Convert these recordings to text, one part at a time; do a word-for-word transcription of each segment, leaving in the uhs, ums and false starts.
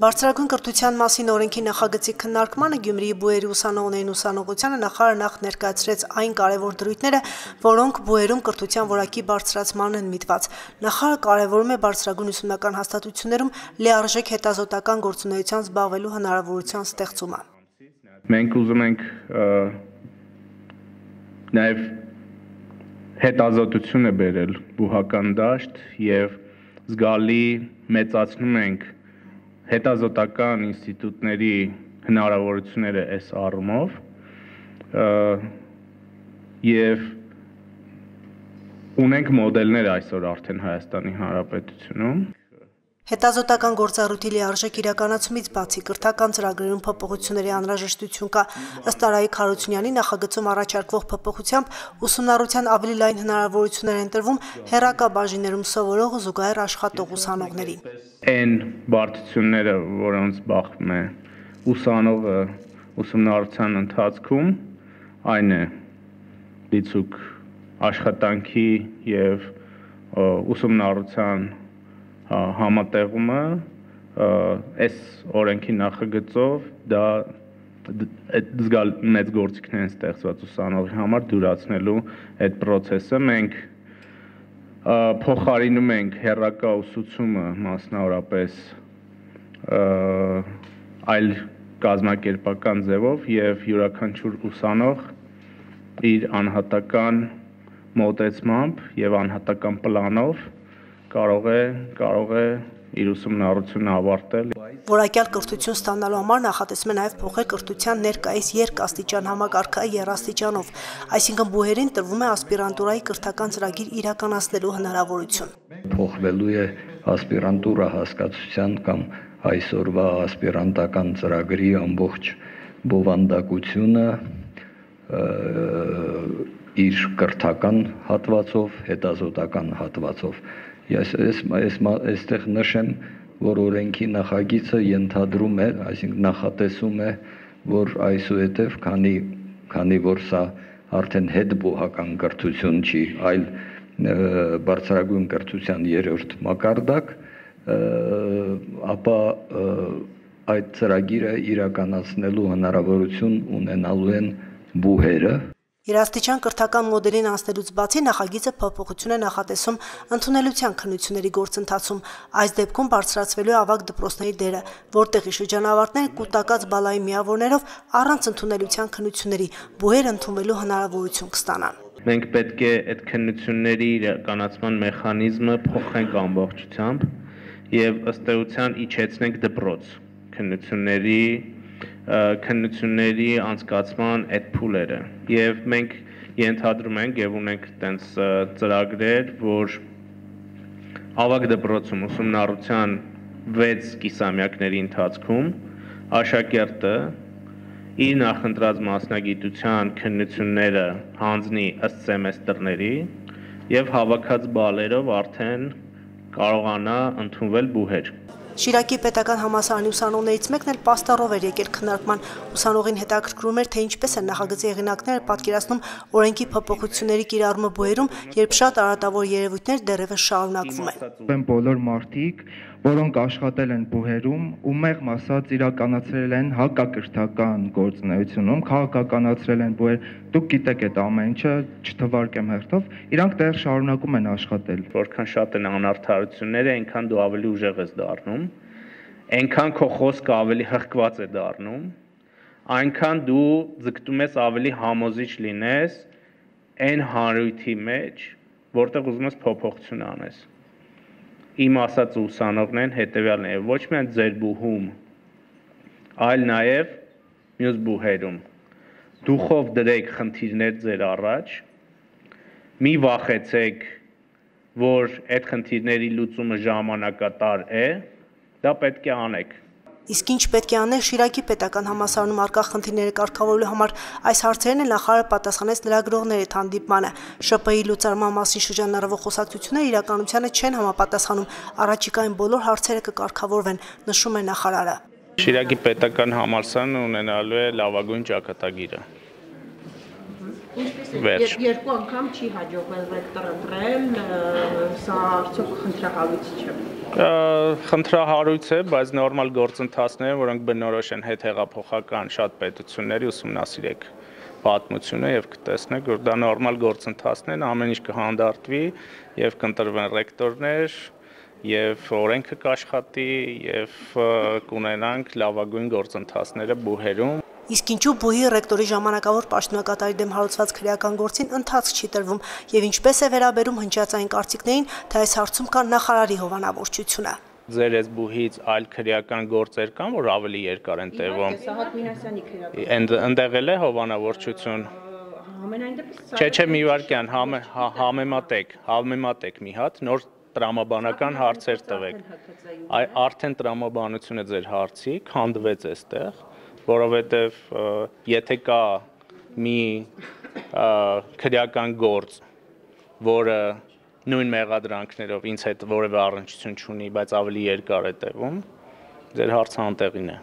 Բարձրագույն կրթության մասին օրենքի նախագծի քննարկմանը Գյումրիի բուհերի ուսանողներին ուսանողությանը նախարարը նախ ներկայացրեց այն կարևոր դրույթները, որոնք բուհերում կրթության որակի բարձրացմանն են միտված։ Նախարարը կարևորում է բարձրագույն ուսումնական հաստատություններում լիարժեք հետազոտական գործունեությամբ զբաղվելու հնարավորության ստեղծումը։ Մենք ուզում ենք նաև հետազոտություն է բերել բուհական դաշտ եւ զգալի մեծացնում ենք հետազոտական ինստիտուտների հնարավորությունները այս առումով եւ ունենք մոդելներ այսօր արդեն Հայաստանի Հանրապետությունում։ Հետազոտական գործառույթի լիարժեք իրականացումից բացի կրթական ծրագրերում փոփոխությունների անհրաժեշտություն կա։ Ըստ Արայիկ Հարությունյանի նախագծում առաջարկվող փոփոխությամբ ուսումնառության ավելի լայն հնարավորություններ են տրվում հեռակա բաժիններում սովորող ու զուգահեռ աշխատող ուսանողներին։ Այն բարդությունները, որոնց բախվում է ուսանողը ուսումնառության ընթացքում, այն է դիցուք աշխատանքի եւ ուսումնառության համատեղումը այս օրենքի նախագծով դա զգալ մեծ գործիքներ են ստեղծված ուսանողի համար դյուրացնելու այդ process-ը մենք փոխարինում ենք հեռակա ուսուցումը մասնավորապես այլ կազմակերպական ձևով եւ յուրաքանչյուր ուսանող իր անհատական մոտեցմամբ եւ անհատական պլանով կարող է կարող է իր ուսումնառությունը ավարտել։ Որակյալ կրթություն ստանալու համար նախատեսվում է նաև փոխել կրթության ներկայիս երկաստիճան համակարգը երաստիճանով, այսինքն բուհերին տրվում է ասպիրանտուրայի կրթական ծրագիր իրականացնելու հնարավորություն։ Փոխվելու է ասպիրանտուրա հասկացության կամ այսօրվա ասպիրանտական ծրագրի ամբողջ բովանդակությունը իր կրթական հատվածով, հետազոտական հատվածով։ Ես այստեղ նշեմ, որ օրենքի նախագիծը ենթադրում է, այսինքն նախատեսում է, որ այսուհետև քանի քանի որ սա արդեն հետբուհական կրթություն չի, այլ բարձրագույն կրթության երրորդ մակարդակ, ապա այդ ծրագիրը իրականացնելու հնարավորություն ունենալու են բուհերը։ Երաստիճան կրթական մոդելին անցնելուց բացի նախագիծը փոփոխություն է նախատեսում ընդունելության քննությունների գործընթացում։ Այս դեպքում բարձրացվելու է ավագ դպրոցների դերը, որտեղի շրջանավարտները կուտակած բալայի միավորներով առանց ընդունելության քննությունների բուհեր ընդունվելու հնարավորություն կստանան։ Մենք պետք է այդ քննությունների իրականացման մեխանիզմը փոխենք ամբողջությամբ եւ ըստ էության իջեցնենք դպրոց քննությունների քննությունների անցկացման այդ փուլերը եւ մենք ենթադրում ենք եւ ունենք տենց ծրագրեր, որ ավագ դպրոցում ուսումնառության վեց կիսամյակների ընթացքում աշակերտը իր նախընտրած մասնագիտության քննությունները հանձնի ըստ սեմեստրների եւ հավաքած բալերով արդեն կարողանա ընդունվել բուհեր։ Շիրակի պետական համալսարանի ուսանողներից մեկն էլ պաստառով էր եկել քննարկման։ Ուսանողին հետաքրքրում էր, թե ինչպես են նախագծի հեղինակները պատկերացնում օրենքի փոփոխությունների կիրառումը բուհերում, երբ շատ արատավոր երևույթներ դեռևս շարունակվում են։ Բոլոր մարդիկ, որոնք աշխատել են բուհերում ու մեղմ ասած իրականացրել են հակակրթական գործունեությունում, քաղաքականացրել են բուհեր, դուք գիտեք այդ ամեն ինչը, չթվարկեմ հերթով, իրանք դեռ շարունակում են աշխատել։ Որքան շատ են անարդարությունները, այնքան դու ավելի ուժեղ ես դառնում, այնքան քո խոսքը ավելի հղկված է դառնում, այնքան դու ձգտում ես ավելի համոզիչ լինես այն հանրույթի մեջ, որտեղ ուզում ես փոփոխություն անես։ Իմ ասած ուսանողներն հետեւյալն է, ոչ միայն ձեր բուհում, այլ նաև մյուս բուհերում։ Դուխով դրեք խնդիրներ ձեր առաջ, մի վախեցեք, որ այդ խնդիրների լուծումը ժամանակատար է, դա պետք է անեք։ Իսկ ինչ պետք է անել Շիրակի պետական համալսարանում առկա խնդիրները կարգավորելու համար, այս հարցերն էլ նախարարը պատասխանեց լրագրողների հանդիպմանը։ ՇՊԸ-ի լուծարման մասին շրջանառվող խոսակցությունները իրականությանը չեն համապատասխանում, առաջիկայում բոլոր հարցերը կկարգավորվեն, նշում է նախարարը։ Շիրակի պետական համալսարանը ունենալու է լավագույն ճակատագիրը։ Ինչպես է, երկու անգամ չի հաջողվել ռեկտորը դրել, սա արդյոք խնդրահարույց չէ։ Խնդրահարույց է, բայց նորմալ գործընթացներ, որոնք բնորոշ են հետհեղափոխական շատ պետությունների, ուսումնասիրեք պատմությունը եւ կտեսնեք, որ դա նորմալ գործընթացներ են, ամեն ինչ կհանդարտվի եւ կընտրվեն ռեկտորներ եւ օրենքը կաշխատի եւ կունենանք լավագույն գործընթացները բուհերում։ Իսկ ինչու բուհի ռեկտորի ժամանակավոր պաշտոնակատարի դեմ հարուցված քրեական գործին ընթացք չի տրվում եւ ինչպես է վերաբերում հնչյացային կարծիքներին, թե այս հարցում կա նախարարի հովանավորչությունը։ Ձեր այս բուհից այլ քրեական գործեր կան, որ ավելի երկար են տևում։ Սահակ Մինասյանի քրեական։ Ընդեղ էլ է հովանավորչություն։ Համենայն դեպս Չէ, չէ, մի վարքյան, համեմատեք, համեմատեք մի հատ, նոր տրամաբանական հարցեր տվեք։ Արդեն տրամաբանությունը ձեր հարցի քանդվեց այստեղ, որովհետև եթե կա մի քրեական գործ, որը նույն մեղադրանքներով ինձ հետ որևէ առնչություն չունի, բայց ավելի երկար է տևում, ձեր հարցը անտեղին է։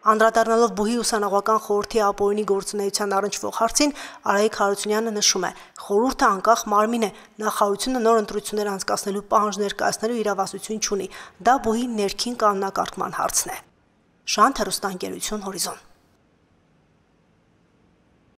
Անդրադառնալով բուհի ուսանողական խորհրդի ապօրինի գործունեության առնչվող հարցին, Արայիկ Հարությունյանը նշում է. խորհուրդը անկախ մարմին է, նախարարությունը նոր ընտրություններ անցկացնելու պահանջ ներկայացնելու իրավասություն չունի, դա բուհի ներքին կանոնակարգման հարցն է։ Շանթ հեռուստաընկերություն Հորիզոն։